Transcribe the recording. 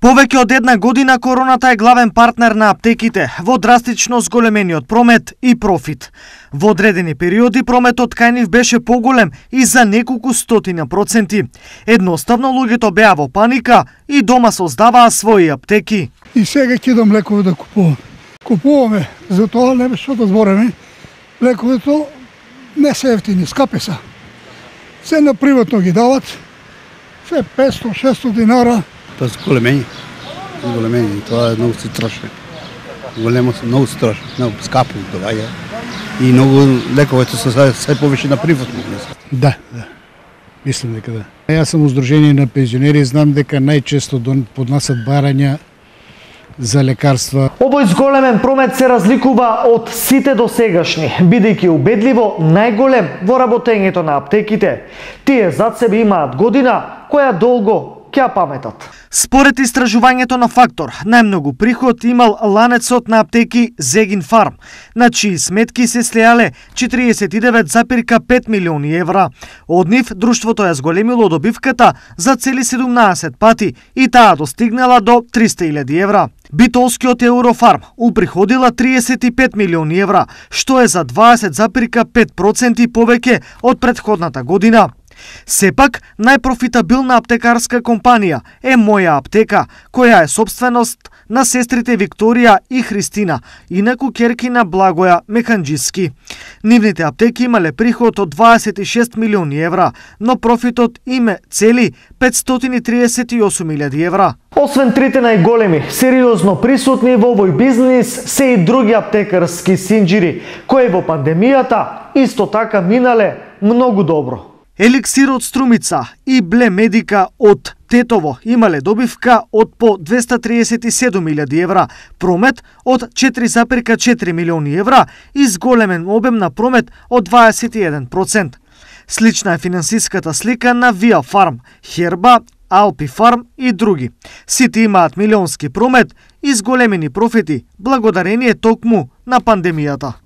Повеќе од една година короната е главен партнер на аптеките во драстично зголемениот промет и профит. Во одредени периоди прометот кај нив беше поголем и за неколку стотина проценти. Едноставно луѓето беа во паника и дома создаваа своји аптеки. И сега кидам лекови да купувам. Купуваме, затоа не беше да збореме. Лековито не се ефтини, скапи се. Се на приватно ги дават, се 500-600 динара. Тоа се големени. Тоа е многу се троши. Многу се троши, многу скапо доваѓа. И многу лековите се повеќе на приватно. Да. Мислам дека да. Јас сум Сдружение на пензионери, знам дека најчесто поднасат барања за лекарства. Овој зголемен промет се разликува од сите досегашни, бидејќи убедливо најголем во работењето на аптеките. Тие зад себе имаат година која долго ќе паметат. Според истражувањето на Фактор, најмногу приход имал ланецот на аптеки Зегин Фарм, на чии сметки се слеале 49,5 милиони евра. Од нив, друштвото ја зголемило добивката за цели 17 пати и таа достигнала до 300.000 евра. Битолскиот Еврофарм уприходила 35 милиони евра, што е за 20,5% повеќе од претходната година. Сепак, најпрофитабилна аптекарска компанија е Моја аптека, која е собственост на сестрите Викторија и Христина, инаку ќерки на Благоја Механџиски. Нивните аптеки имале приход од 26 милиони евра, но профитот им е цели 538.000 евра. Освен трите најголеми, сериозно присутни во овој бизнис се и други аптекарски синџири, кои во пандемијата исто така минале многу добро. Еликсир од Струмица и Бле Медика од Тетово имале добивка од по 237.000 евра, промет од 4,4 милиони евра и зголемен обем на промет од 21%. Слична е финансиската слика на Виа Фарм, Херба, Алпи Фарм и други. Сите имаат милионски промет и зголемени профити благодарение токму на пандемијата.